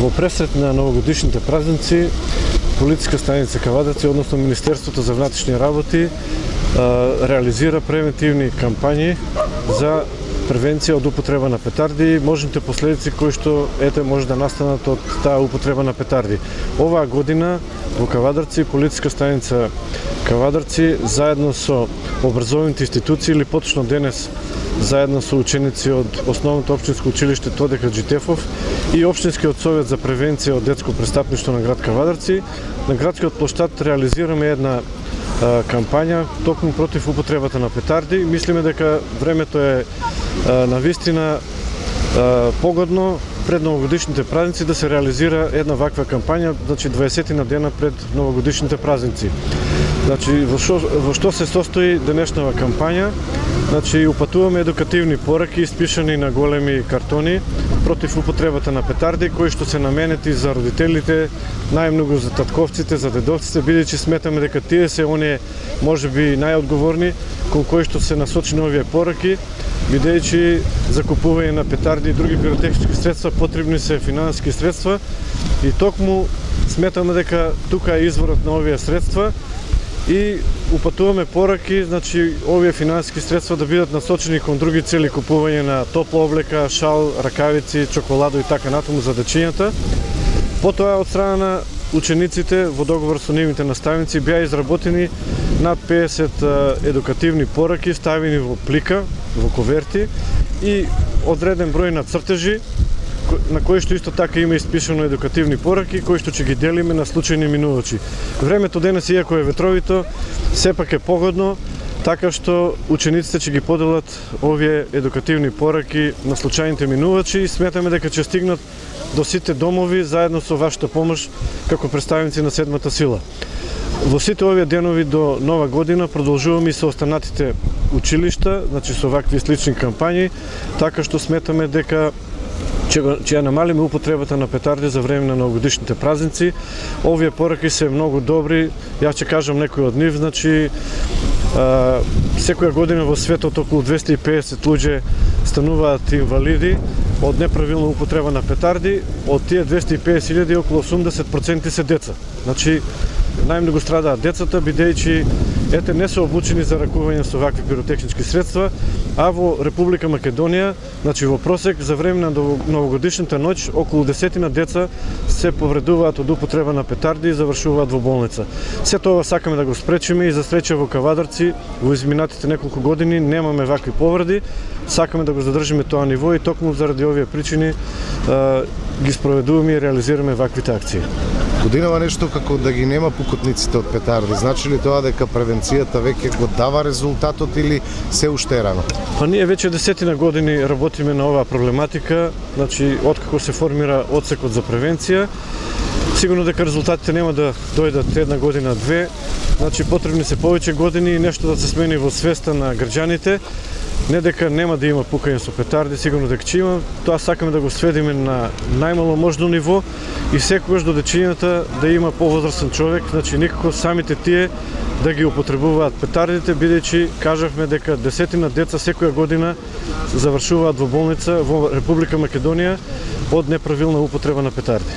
Во пресрет на новогодишните празници, Полициска станица Кавадарци, односно Министерството за внатрешни работи, реализира превентивни кампањи за превенција од употреба на петарди и можните последици кои што може да настанат од таа употреба на петарди. Оваа година во Кавадарци, Полициска станица Кавадарци, заедно со образовните институции, или поточно денес заедно со ученици од Основното општинско училиште Тоде Хаджитефов и Општинскиот совет за превенција од детско престапништво на град Кавадарци, на градскиот плоштад реализираме една кампања токму против употребата на петарди. Мислиме дека времето е навистина погодно пред новогодишните празници да се реализира една ваква кампања, значи 20 на дена пред новогодишните празници. Значи во што се состои денешнава кампања? Значи упатуваме едукативни пораки испишани на големи картони против употребата на петарди, кои што се наменети за родителите, најмногу за татковците, за дедовците, бидејќи сметаме дека тие се оние можеби најодговорни кон кои што се насочени овие пораки, бидејќи за купување на петарди и други пиротехнички средства потребни се финансиски средства и токму сметаме дека тука е изворот на овие средства и упатуваме пораки, значи овие финансиски средства да бидат насочени кон други цели, купување на топла облека, шал, ракавици, чоколадо и така натаму за дечињата. Потоа од страна на учениците во договор со нивните наставници беа изработени над 50 едукативни пораки ставени во плика, во коверти и одреден број на цртежи на кои што исто така има испишано едукативни пораки кои што ќе ги делиме на случајни минувачи. Времето денес, иако е ветровито, сепак е погодно, така што учениците ќе ги поделат овие едукативни пораки на случајните минувачи и сметаме дека ќе стигнат до сите домови заедно со вашата помош како представници на седмата сила. Во сите овие денови до Нова година продолжуваме и со останатите училишта, значи со вакви слични кампањи, така што сметаме дека ќе ја намалиме употребата на петарди за време на новогодишните празници. Овие пораки се многу добри, јас ќе кажам некои од нив, значи секоја година во светот околу 250 луѓе стануваат инвалиди од неправилна употреба на петарди, од тие 250.000 околу 80% се деца. Значи најмногу страдаат децата, бидејќи не се обучени за ракување со вакви пиротехнички средства, а во Република Македонија, значи во просек за време на новогодишната ноќ околу 10 деца се повредуваат од употреба на петарди и завршуваат во болница. Сето ова сакаме да го спречиме и за среќа во Кавадарци во изминатите неколку години немаме вакви повреди. Сакаме да го задржиме тоа ниво и токму заради овие причини ги спроведуваме и реализираме ваквите акции. Годинава нешто како да ги нема пукотниците од петарди. Значи ли тоа дека превенцијата веќе го дава резултатот или се уште рано? Па ние веќе 10 години работиме на оваа проблематика, значи откако се формира одсекот за превенција. Сигурно дека резултатите нема да дојдат една година, две, значи потребни се повеќе години и нешто да се смени во свеста на граѓаните. Не дека нема да има пукање со петарди, сигурно дека ќе има, тоа сакаме да го сведеме на најмало можно ниво и секогаш до дечињата да има повозрастен човек, значи никако самите тие да ги употребуваат петардите, бидејќи кажавме дека 10 деца секоја година завршуваат во болница во Република Македонија од неправилна употреба на петарди.